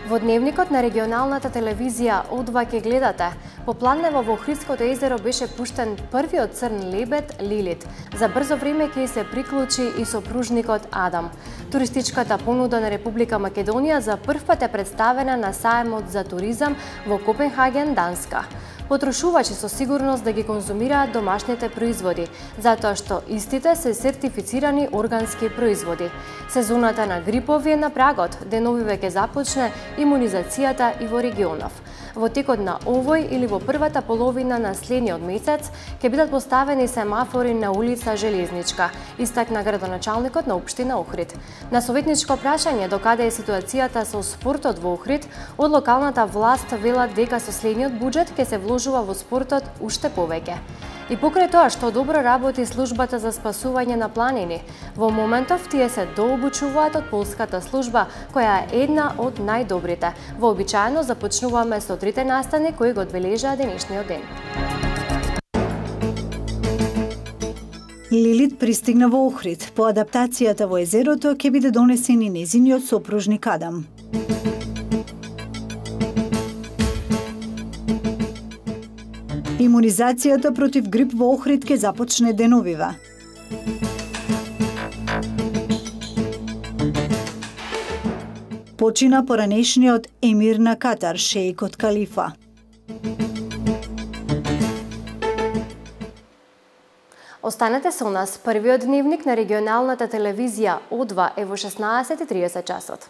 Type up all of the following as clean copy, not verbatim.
Во дневникот на регионалната телевизија О2 ке гледате. По Планево во Охридското езеро беше пуштен првиот црн лебед Лилит. За брзо време ќе се приклучи и сопружникот Адам. Туристичката понуда на Република Македонија за прв пат е представена на саемот за туризам во Копенхаген, Данска. Потрошувачи со сигурност да ги конзумираат домашните производи, затоа што истите се сертифицирани органски производи. Сезоната на грипови е на прагот, деновиве ќе започне имунизацијата и во регионов. Во текот на овој или во првата половина на следниот месец ќе бидат поставени семафори на улица Железничка, истакна градоначалникот на општина Охрид. На советничко прашање докаде е ситуацијата со спортот во Охрид, од локалната власт велат дека со следниот буџет ќе се вложува во спортот уште повеќе. И покрај тоа што добро работи службата за спасување на планини, во моментов тие се дообучуваат од полската служба, која е една од најдобрите. Вообичаено започнуваме со трите настани кои го одбележаа денешниот ден. Лилит пристигна во Охрид. По адаптацијата во езерото ќе биде донесен и нејзиниот сопружник Адам. Имунизацијата против грип во Охрид ќе започне деновива. Почина поранешниот емир на Катар, шеикот Калифа. Останете со нас. Првиот дневник на регионалната телевизија О2 е во 16:30 часот.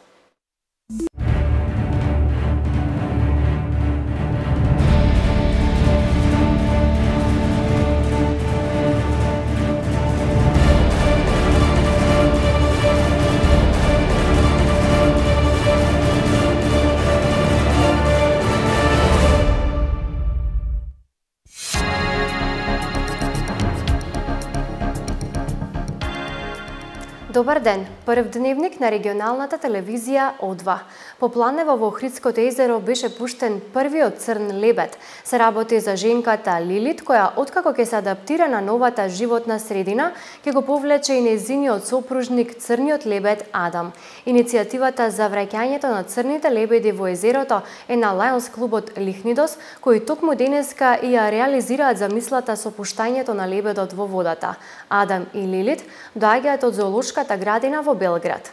Добар ден! Прв дневник на регионалната телевизија О2. По Планево во Охридското езеро беше пуштен првиот црн лебед. Се работи за женката Лилит, која откако ќе се адаптира на новата животна средина, ќе го повлече и нејзиниот сопружник црниот лебед Адам. Иницијативата за враќањето на црните лебеди во езерото е на Лајонс клубот Лихнидос, кои токму денеска и ја реализираат замислата со пуштањето на лебедот во водата. Адам и Лилит доаѓаат од зоолошката градина во Белград.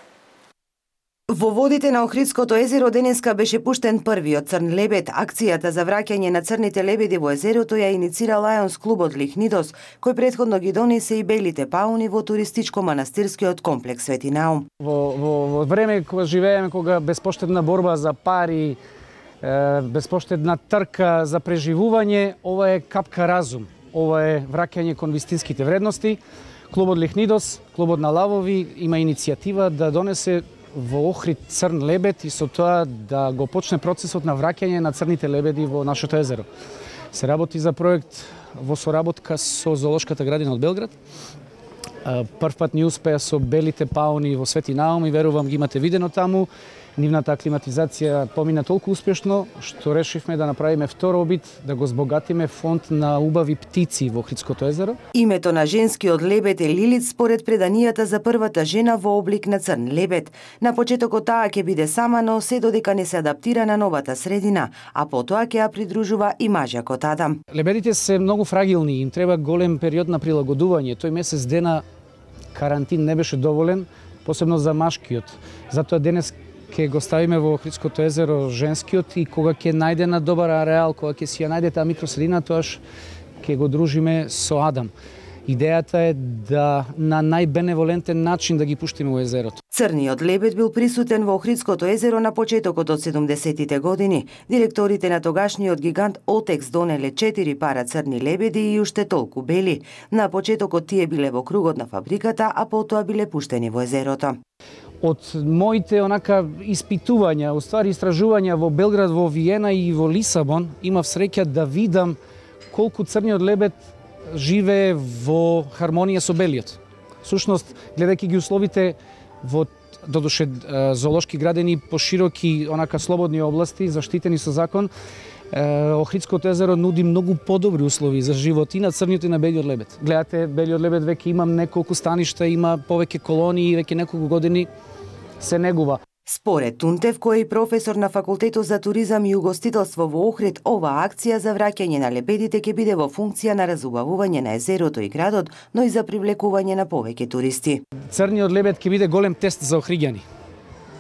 Во водите на Охридското езеро денеска беше пуштен првиот црн лебед. Акцијата за враќање на црните лебеди во езерото ја иницира Лајонс клубот Лихнидос, кој претходно ги донесе и белите пауни во туристичко-манастирскиот комплекс Свети Наум. Во време кога живееме, кога безпоштедна борба за пари, безпоштедна трка за преживување, ова е капка разум. Ова е враќање кон вистинските вредности. Клубот Лихнидос, клубот на лавови, има иницијатива да донесе во Охрид црн лебед и со тоа да го почне процесот на враќање на црните лебеди во нашето езеро. Се работи за проект во соработка со зоолошката градина од Белград. Прв пат ни успеа со белите пауни во Свети Наум и верувам ги имате видено таму. Нивната аклиматизација помина толку успешно што решивме да направиме втор обид да го збогатиме фонд на убави птици во Охридското езеро. Името на женскиот лебед е Лилит според преданијата за првата жена во облик на црн лебед. На почетокот таа ќе биде сама, но се додека не се адаптира на новата средина, а потоа ќе ја придружува и мажјакот Адам. Лебедите се многу фрагилни, им треба голем период на прилагодување. Тој месец дена карантин не беше доволен, посебно за машкиот. Затоа денес ќе го ставиме во Охридското езеро женскиот и кога ќе најде на добар ареал, кога ќе си ја најде таа микросредина, тоаш ќе го дружиме со Адам. Идејата е да на најбеневолентен начин да ги пуштиме во езерото. Црниот лебед бил присутен во Охридското езеро на почетокот од 70-тите години. Директорите на тогашниот гигант Отекс донеле 4 пара црни лебеди и уште толку бели. На почетокот тие биле во кругот на фабриката, а потоа биле пуштени во езерото. Од моите испитувања, уствари истражувања во Белград, во Виена и во Лисабон, имав среќа да видам колку црниот лебед живее во хармонија со белиот. Сушност, гледајќи ги условите во додуше зоолошки градини по широки, слободни области, заштитени со закон, Охридското езеро нуди многу подобри услови за живот и на црниот и на белиот лебед. Гледате, белиот лебед веќе има неколку станишта, има повеќе колонии, веќе неколку години се негува. Според Тунтев, кој е професор на Факултетот за туризам и угостителство во Охрид, оваа акција за враќање на лебедите ќе биде во функција на разубавување на езерото и градот, но и за привлекување на повеќе туристи. Црниот лебед ќе биде голем тест за охриѓани.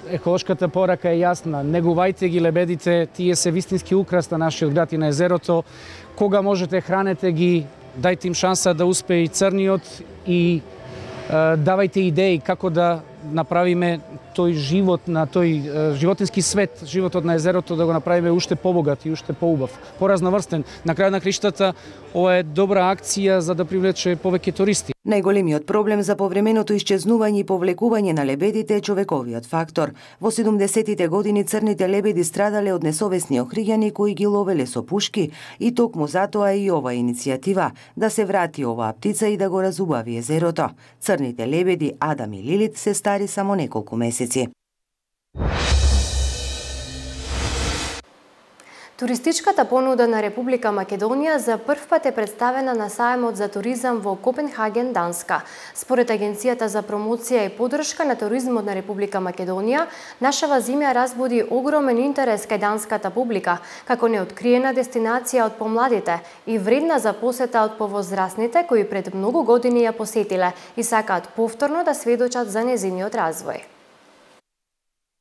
Еколошката порака е јасна. Негувајте ги лебедите, тие се вистински украс на нашиот град и на езерото. Кога можете, хранете ги, дајте им шанса да успее и црниот и давајте идеи како да направиме тој живот на тој животински свет, животот на езерото да го направиме уште побогат и уште поубав, поразноврстен. На крај на криштата ова е добра акција за да привлече повеќе туристи. Најголемиот проблем за повременото исчезнување и повлекување на лебедите е човековиот фактор. Во 70-тите години црните лебеди страдале од несовесни охриѓани кои ги ловеле со пушки и токму затоа и ова иницијатива да се врати оваа птица и да го разубави езерото. Црните лебеди Адам и Лилит се стари само неколку месеци. Туристичката понуда на Република Македонија за прв пат е представена на сајмот за туризам во Копенхаген, Данска. Според Агенцијата за промоција и поддршка на туризмот на Република Македонија, нашава земја разбуди огромен интерес кај данската публика, како неоткриена дестинација од помладите и вредна за посета од повозрасните кои пред многу години ја посетиле и сакаат повторно да сведочат за нејзиниот развој.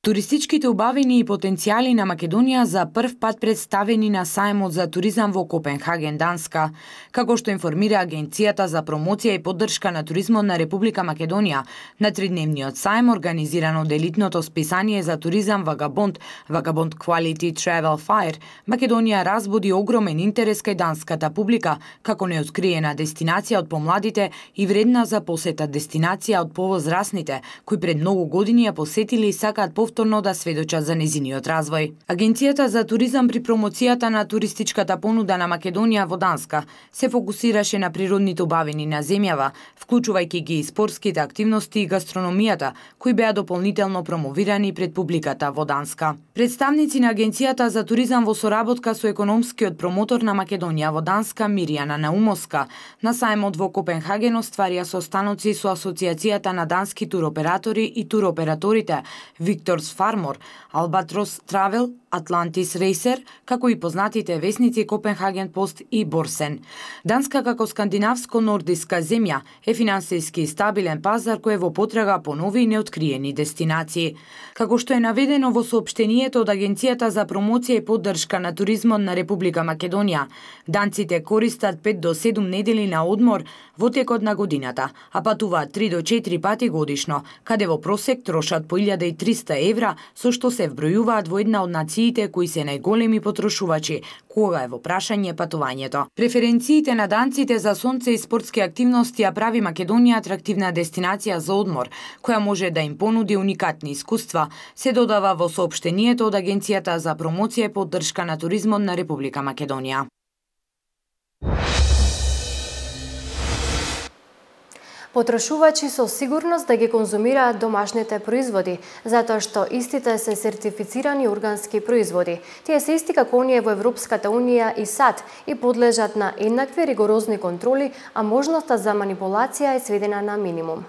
Туристичките убавини и потенцијали на Македонија за прв пат представени на сајмот за туризам во Копенхаген, Данска. Како што информира Агенцијата за промоција и поддршка на туризмот на Република Македонија, на тридневниот сајм организиран од елитното списание за туризам Vagabond Quality Travel Fair, Македонија разбуди огромен интерес кај данската публика, како неоткриена дестинација од помладите и вредна за посета дестинација од повозрасните, кои пред многу години ја посетили и сакаат повторно да сведочат за нејзиниот развој. Агенцијата за туризам при промоцијата на туристичката понуда на Македонија во Данска се фокусираше на природните убавини на земјава, вклучувајќи ги и спортските активности и гастрономијата, кои беа дополнително промовирани пред публиката во Данска. Представници на Агенцијата за туризам во соработка со економскиот промотор на Македонија во Данска Мирјана Наумовска на сајмот во Копенхаген остварија состаноци со Асоциацијата на дански туроператори и туроператорите Виктор Farmor, Albatros Travel, Atlantis Racer, како и познатите весници Копенхаген Пост и Борсен. Данска како скандинавско-нордиска земја е финансиски стабилен пазар кој е во потрага по нови и неоткриени дестинации. Како што е наведено во соопштенијето од Агенцијата за промоција и поддршка на туризмот на Република Македонија, данците користат 5 до 7 недели на одмор во текот на годината, а патуваат 3 до 4 пати годишно, каде во просек трошат по 1300 евра, со што се вбројуваат во една од нациите кои се најголеми потрошувачи, кога е во прашање патувањето. Преференциите на данците за сонце и спортски активности ја прави Македонија атрактивна дестинација за одмор, која може да им понуди уникатни искуства, се додава во соопштенијето од Агенцијата за промоција и поддршка на туризмот на Република Македонија. Потрошувачи со сигурност да ги конзумираат домашните производи, затоа што истите се сертифицирани органски производи. Тие се исти како оние во Европската Унија и САД и подлежат на еднакви ригорозни контроли, а можноста за манипулација е сведена на минимум.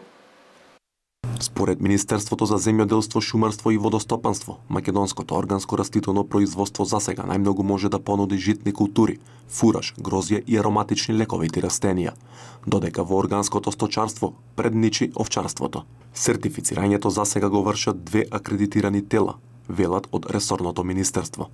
Според Министерството за земјоделство, шумарство и водостопанство, македонското органско растително производство засега најмногу може да понуди житни култури, фураж, грозје и ароматични лековити растенија, додека во органското сточарство предничи овчарството. Сертифицирањето засега го вршат 2 акредитирани тела, велат од ресорното министерство.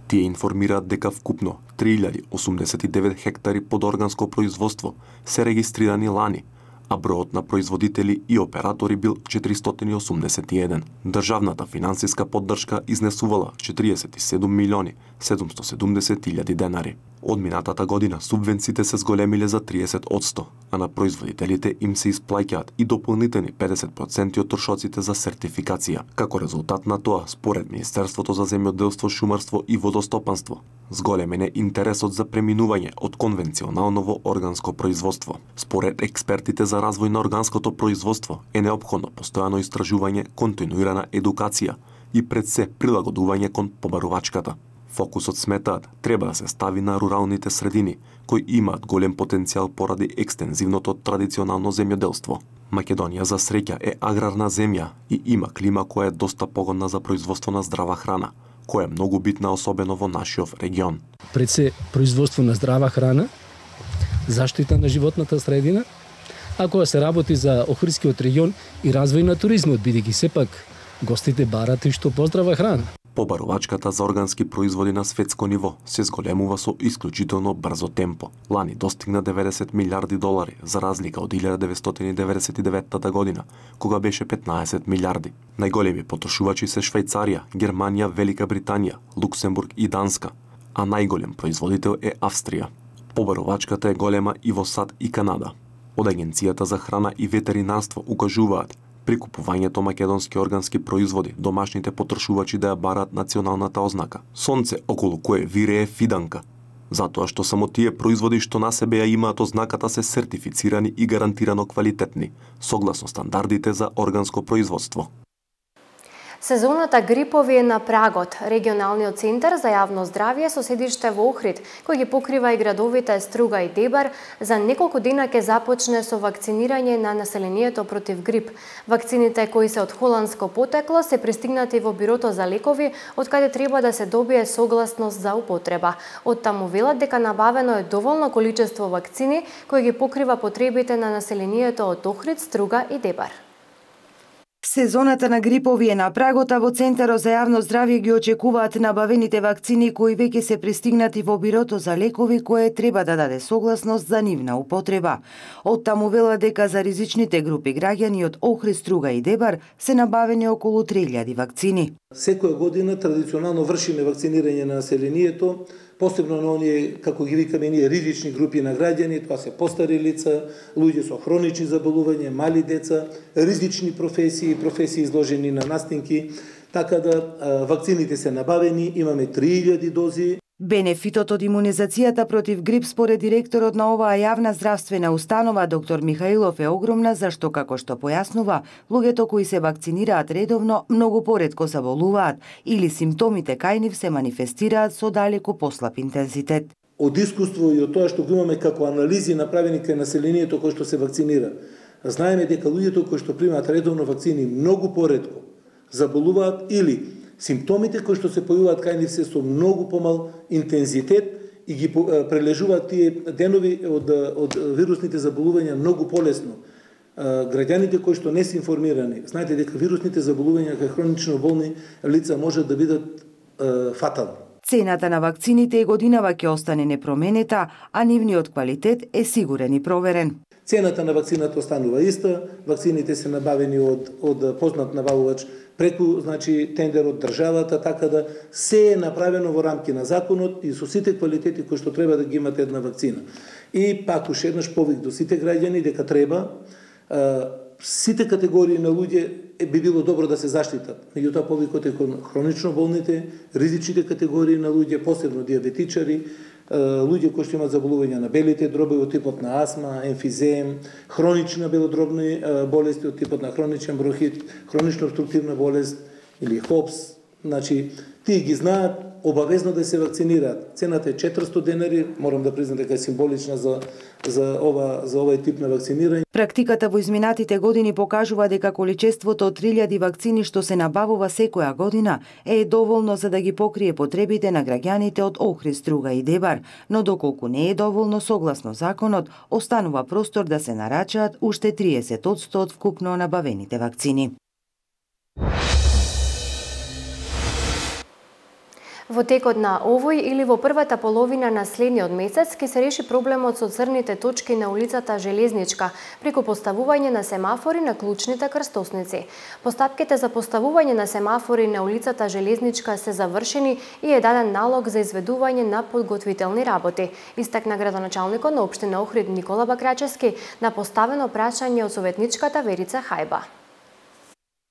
Тие информираат дека вкупно 3089 хектари под органско производство се регистрирани лани, а бројот на производители и оператори бил 481. Државната финансиска поддршка изнесувала 47 милиони 770 илјади денари. Од минатата година субвенциите се зголемиле за 30%, а на производителите им се исплаќаат и дополнителни 50% од трошоците за сертификација. Како резултат на тоа, според Министерството за земјоделство, шумарство и водостопанство, зголемен е интересот за преминување од конвенционално во органско производство. Според експертите за развој на органското производство е неопходно постојано истражување, континуирана едукација и пред се прилагодување кон побарувачката. Фокусот, сметаат, треба да се стави на руралните средини, кои имаат голем потенцијал поради екстензивното традиционално земјоделство. Македонија за среќа е аграрна земја и има клима која е доста погодна за производство на здрава храна, која е многу битна особено во нашиот регион. Пред се производство на здрава храна, заштита на животната средина, а кога се работи за Охридскиот регион и развој на туризмот, бидејќи сепак гостите барат и што поздрава храна. Побарувачката за органски производи на светско ниво се зголемува со исклучително брзо темпо. Лани достигна 90 милиарди долари, за разлика од 1999 година, кога беше 15 милиарди. Најголеми потрошувачи се Швајцарија, Германија, Велика Британија, Луксембург и Данска, а најголем производител е Австрија. Побарувачката е голема и во САД и Канада. Од Агенцијата за храна и ветеринарство укажуваат при купувањето македонски органски производи, домашните потрошувачи да ја бараат националната ознака. Сонце околу кое вирее фиданка. Затоа што само тие производи што на себе ја имаат ознаката се сертифицирани и гарантирано квалитетни, согласно стандардите за органско производство. Сезоната грипови е на прагот. Регионалниот центар за јавно здравје со седиште во Охрид, кој ги покрива и градовите Струга и Дебар, за неколку дена ќе започне со вакцинирање на населението против грип. Вакцините кои се од холандско потекло се пристигнати во бирото за лекови, од каде треба да се добие согласност за употреба. Од таму велат дека набавено е доволно количество вакцини кои ги покрива потребите на населението од Охрид, Струга и Дебар. Сезоната на грипови е на прагот, а во Центарот за јавно здравје ги очекуваат набавените вакцини кои веќе се пристигнати во бирото за лекови кое треба да даде согласност за нивна употреба. Од таму вела дека за ризичните групи граѓани од Охрид, Струга и Дебар се набавени околу 3000 вакцини. Секоја година традиционално вршиме вакцинирање на населението, посебно на оние, како ги викаме ние, ризични групи на граѓани, тоа се постари лица, луѓе со хронични заболувања, мали деца, ризични професии, професии изложени на настинки, така да вакцините се набавени, имаме 3000 дози. Бенефитот од имунизацијата против грип според директорот на оваа јавна здравствена установа доктор Михаилов е огромна, зашто како што појаснува, луѓето кои се вакцинираат редовно многу поретко заболуваат или симптомите кај нив се манифестираат со далеку послаб интензитет. Од искуство и од тоа што го имаме како анализи направени кај населението кој што се вакцинира, знаеме дека луѓето кои што примаат редовно вакцини многу поретко заболуваат или симптомите кои што се појавуваат кај нив се со многу помал интензитет и ги прележуваат тие денови од вирусните заболувања многу полесно. Граѓаните кои што не се информирани, знаете дека вирусните заболувања кај хронично болни лица можат да бидат фатални. Цената на вакцините и годинава ќе остане непроменита, а нивниот квалитет е сигурен и проверен. Цената на вакцината останува иста, вакцините се набавени од познат набавувач преку тендер од државата, така да се е направено во рамки на законот и со сите квалитети кои што треба да ги имате една вакцина. И пак уште еднаш повик до сите граѓани дека треба сите категории на луѓе би било добро да се заштитат. Меѓутоа повикот е кон хронично болните, ризичните категории на луѓе, посебно диабетичари, луѓе кои што имаат заболувања на белите дроби од типот на астма, емфизем, хронична белодробни болести од типот на хроничен бронхит, хронично обструктивна болест или ХОПС, тие ги знаат, обавезно да се вакцинираат. Цената е 400 денари, морам да признам дека е символична за овој тип на вакцинирање. Практиката во изминатите години покажува дека количеството од 3000 вакцини што се набавува секоја година е доволно за да ги покрие потребите на граѓаните од Охрид, Струга и Дебар, но доколку не е доволно согласно законот, останува простор да се нарачаат уште 30% од вкупно набавените вакцини. Во текот на овој или во првата половина на следниот месец ќе се реши проблемот со црните точки на улицата Железничка преку поставување на семафори на клучните крстосници. Постапките за поставување на семафори на улицата Железничка се завршени и е даден налог за изведување на подготвителни работи. Истакна градоначалникот на општина Охрид Никола Бакрачевски на поставено прашање од советничката Верица Хајба.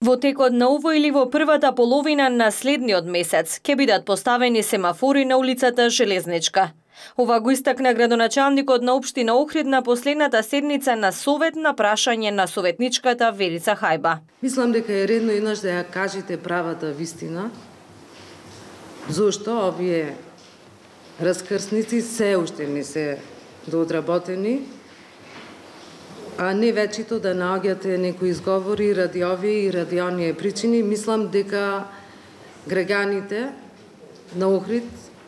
Во текот на овој или во првата половина на следниот месец ќе бидат поставени семафори на улицата Железничка. Ова го истакна градоначалникот на општина Охрид на последната седница на совет на прашање на советничката Верица Хајба. Мислам дека е редно еднаш да ја кажете правата вистина, зошто овие раскрсници се уште не се доодработени а не вечето да наоѓате некои изговори ради овие и ради оние причини. Мислам дека граѓаните на Охрид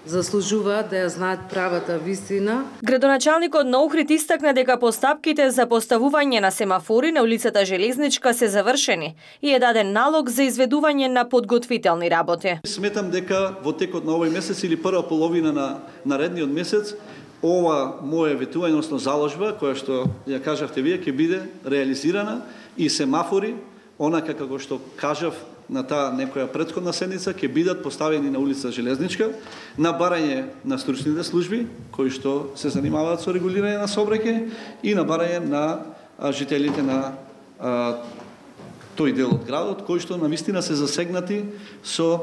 заслужуваат да ја знаат правата вистина. Градоначалникот на Охрид истакна дека постапките за поставување на семафори на улицата Железничка се завршени и е даден налог за изведување на подготвителни работи. Сметам дека во текот на овој месец или прва половина на наредниот месец ова моје ветување, односно заложба, која што ја кажавте вие, ќе биде реализирана и семафори, онака како што кажав на таа некоја претходна седница, ќе бидат поставени на улица Железничка на барање на стручните служби кои што се занимаваат со регулирање на сообраќај и на барање на жителите на тој дел од градот кои што навистина се засегнати со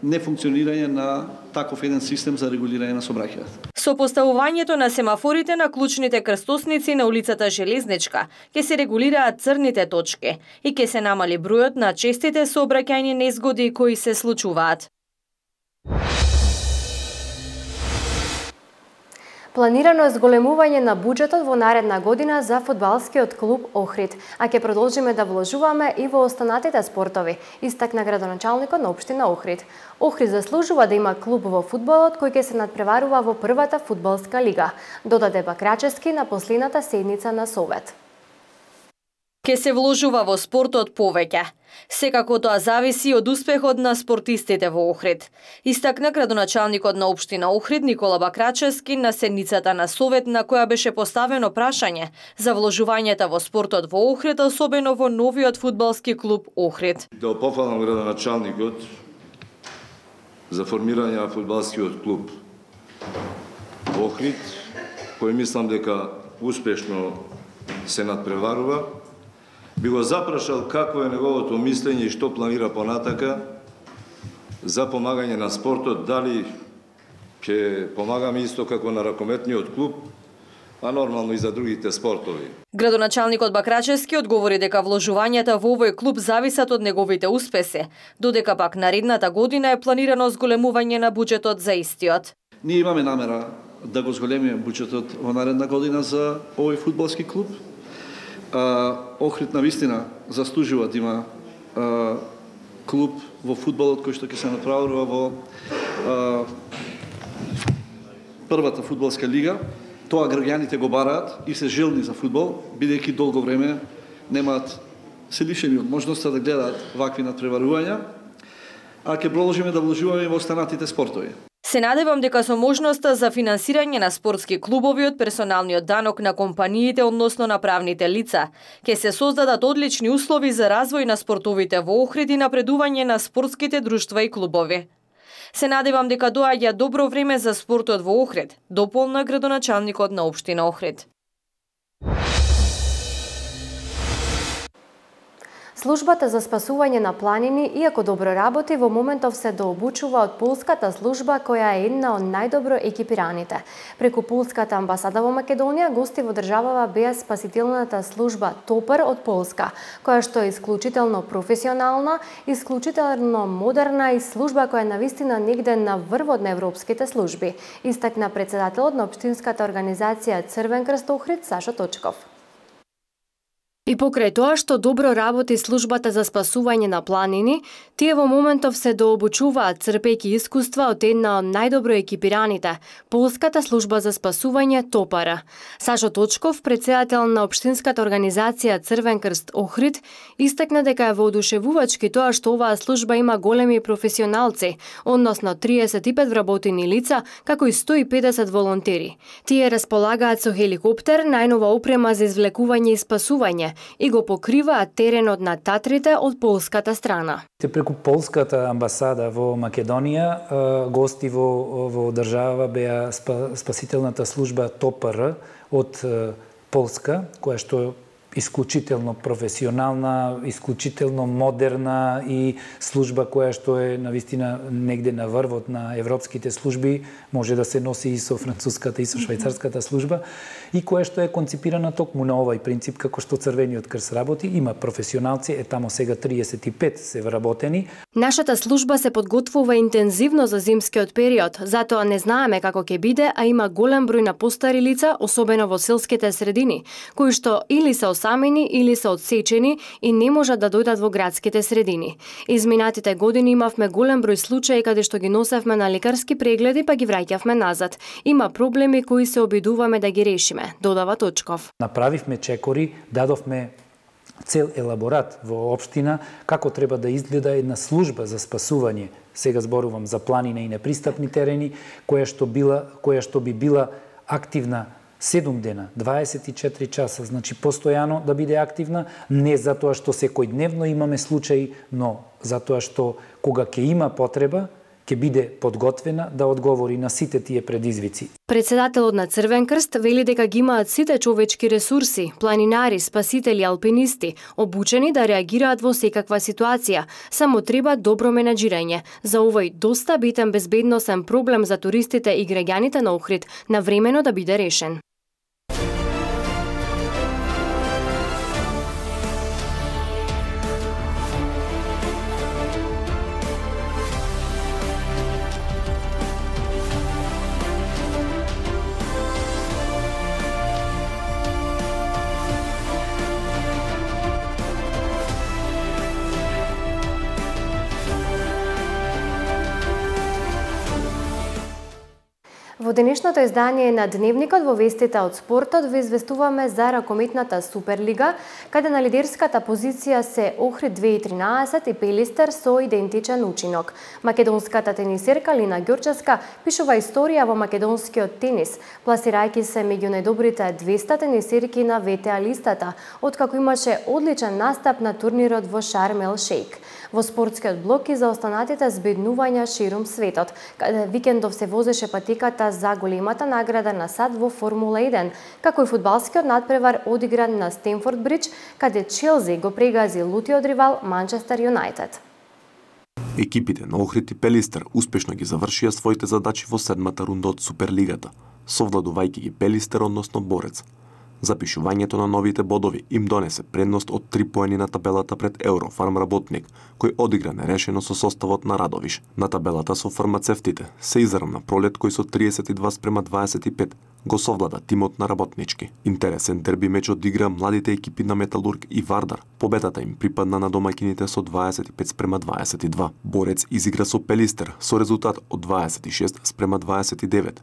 нефункционирање на таков еден систем за регулирање на сообраќајот. Со поставувањето на семафорите на клучните крстосници на улицата Железничка ќе се регулираат црните точки и ќе се намали бројот на честите сообраќајни незгоди кои се случуваат. Планирано е зголемување на буџетот во наредна година за фудбалскиот клуб Охрид, а ќе продолжиме да вложуваме и во останатите спортови, истакна градоначалникот на општина Охрид. Охрид заслужува да има клуб во фудбалот кој ќе се надпреварува во првата фудбалска лига, додаде Бакрачевски на последната седница на Совет. Ке се вложува во спортот повеќе. Секако тоа зависи од успехот на спортистите во Охрид. Истакна градоначалникот на општина Охрид Никола Бакрачевски на седницата на Совет на која беше поставено прашање за вложувањата во спортот во Охрид, особено во новиот фудбалски клуб Охрид. Да пофалам градоначалникот за формирање на фудбалскиот клуб во Охрид, кој мислам дека успешно се надпреварува. Би го запрашал какво е неговото мислење и што планира понатака за помагање на спортот, дали ќе помагаме исто како на ракометниот клуб, а нормално и за другите спортови. Градоначалникот Бакрачевски одговори дека вложувањата во овој клуб зависат од неговите успеси, додека пак наредната година е планирано зголемување на буџетот за истиот. Ние имаме намера да го зголемиме буџетот во наредна година за овој фудбалски клуб. Охрид навистина заслужува да има клуб во фудбалот кој што ќе се направува во првата фудбалска лига. Тоа граѓаните го бараат и се желни за фудбал, бидејќи долго време немаат, се лишени од можноста да гледаат вакви надпреварувања, а ќе продолжиме да вложуваме во останатите спортови. Се надевам дека со можноста за финансирање на спортски клубови од персоналниот данок на компаниите, односно на правните лица, ќе се создадат одлични услови за развој на спортовите во Охрид и напредување на спортските друштва и клубови. Се надевам дека доаѓа добро време за спортот во Охрид, дополна градоначалникот на општина Охрид. Службата за спасување на планини, иако добро работи, во моментов се дообучува од полската служба која е една од најдобро екипираните. Преку полската амбасада во Македонија, гости во државава беа спасителната служба ТОПАР од Полска, која што е исклучително професионална, исклучително модерна и служба која навистина негде на врвот на европските служби, истакна председателот на општинската организација Црвен крст Охрид Сашо Точков. И покрај тоа што добро работи службата за спасување на планини, тие во моментов се дообучуваат црпејќи искуства од една од најдобро екипираните, полската служба за спасување ТОПАР. Сашо Точков, председател на општинската организација Црвен крст Охрид, истакна дека е воодушевувачки тоа што оваа служба има големи професионалци, односно 35 вработени лица, како и 150 волонтери. Тие располагаат со хеликоптер, најнова опрема за извлекување и спасување, и го покриваат теренот на Татрите од полската страна. Преку полската амбасада во Македонија, гости во држава беа спасителната служба ТОПАР од Полска, која што исклучително професионална, исклучително модерна и служба која што е навистина негде на врвот на европските служби, може да се носи и со француската и со швајцарската служба, и која што е конципирана токму на овај принцип како што Црвениот крст работи. Има професионалци, тамо сега 35 се вработени. Нашата служба се подготвува интензивно за зимскиот период, затоа не знаеме како ќе биде, а има голем број на постари лица, особено во селските средини, кои што или се осамени или се одсечени и не можат да дојдат во градските средини. Изминатите години имавме голем број случаи каде што ги носевме на лекарски прегледи па ги враќавме назад. Има проблеми кои се обидуваме да ги решиме, додава Точков. Направивме чекори, дадовме цел елаборат во општина како треба да изгледа една служба за спасување. Сега зборувам за планина и непристапни терени, која што би била активна 7 дена, 24 часа, значи постојано да биде активна, не затоа што секојдневно имаме случаи, но затоа што кога ќе има потреба, ќе биде подготвена да одговори на сите тие предизвици. Председателот на Црвен крст вели дека ги имаат сите човечки ресурси, планинари, спасители, алпинисти, обучени да реагираат во секаква ситуација. Само треба добро менаџирање. За овој доста битен безбедносен проблем за туристите и граѓаните на Охрид навремено да биде решен. Во денешното издание на Дневникот во вестите од спортот ви известуваме за ракометната Суперлига, каде на лидерската позиција се Охрид 2013 и Пелистер со идентичен учинок. Македонската тенисерка Лина Ѓорчевска пишува историја во македонскиот тенис, пласирајќи се меѓу најдобрите 200 тенисерки на ВТА листата, откако имаше одличен настап на турнирот во Шарм ел Шејк. Во спортскиот блок и за останатите збеднувања ширум светот, каде викендов се возеше патиката за големата награда на САД во Формула 1, како и фудбалскиот надпревар одигран на Стенфорд Бридж, каде Челси го прегази лутиот ривал Манчестер Юнајтед. Екипите на Охрид и Пелистер успешно ги завршија своите задачи во седмата рунда од Суперлигата, совладувајќи ги Пелистер, односно Борец. Запишувањето на новите бодови им донесе предност од 3 поени на табелата пред Еврофарм Работник, кој одигра нерешено со составот на Радовиш. На табелата со фармацевтите се изравна Пролет, кој со 32:25 го совлада тимот на Работнички. Интересен дерби меч одигра младите екипи на Металург и Вардар. Победата им припадна на домаќините со 25:22. Борец изигра со Пелистер со резултат од 26:29.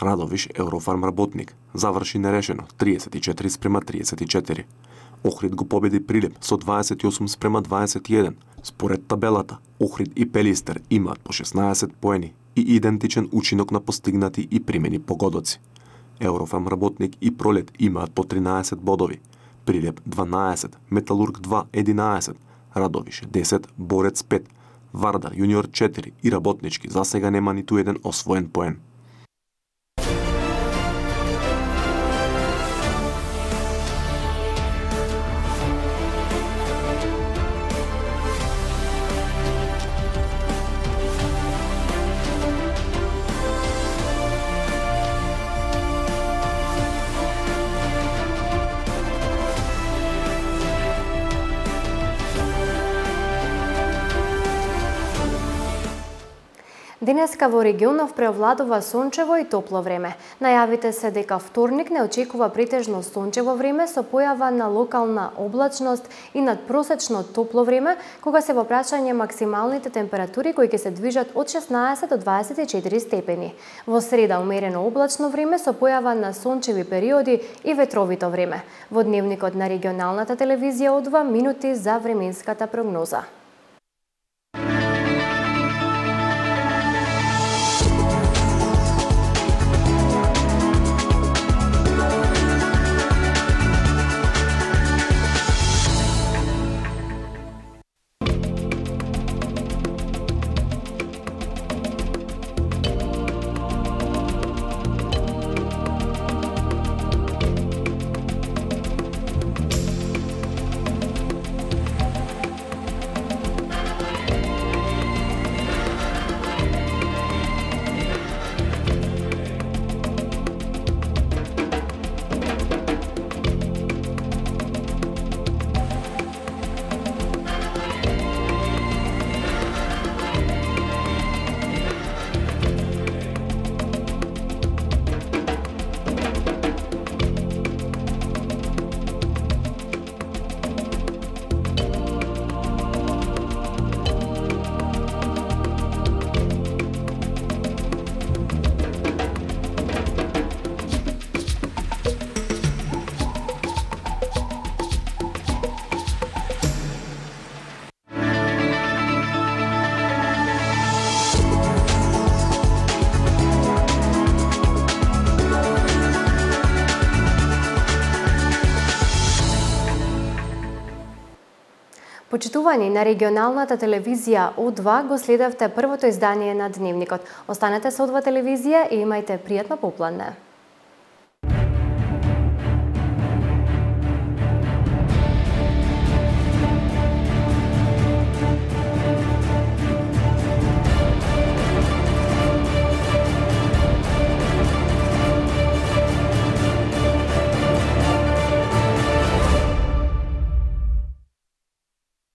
Радовиш, Еврофарм Работник, заврши нерешено 34:34. Охрид го победи Прилеп со 28:21. Според табелата, Охрид и Пелистер имаат по 16 поени и идентичен учинок на постигнати и примени погодоци. Еврофарм Работник и Пролет имаат по 13 бодови, Прилеп 12, Металург 2 11, Радовиш 10, Борец 5, Вардар Јуниор 4 и Работнички засега нема ниту еден освоен поен. Денеска во регионов преовладува сончево и топло време. Најавите се дека вторник не очекува претежно сончево време со појава на локална облачност и надпросечно топло време, кога се во прашање максималните температури кои ќе се движат од 16 до 24 степени. Во среда умерено облачно време со појава на сончеви периоди и ветровито време. Во Дневникот на регионалната телевизија од 2 минути за временската прогноза. Почитувани на регионалната телевизија О2 го следевте првото издание на Дневникот. Останете со О2 телевизија и имајте пријатно попладне.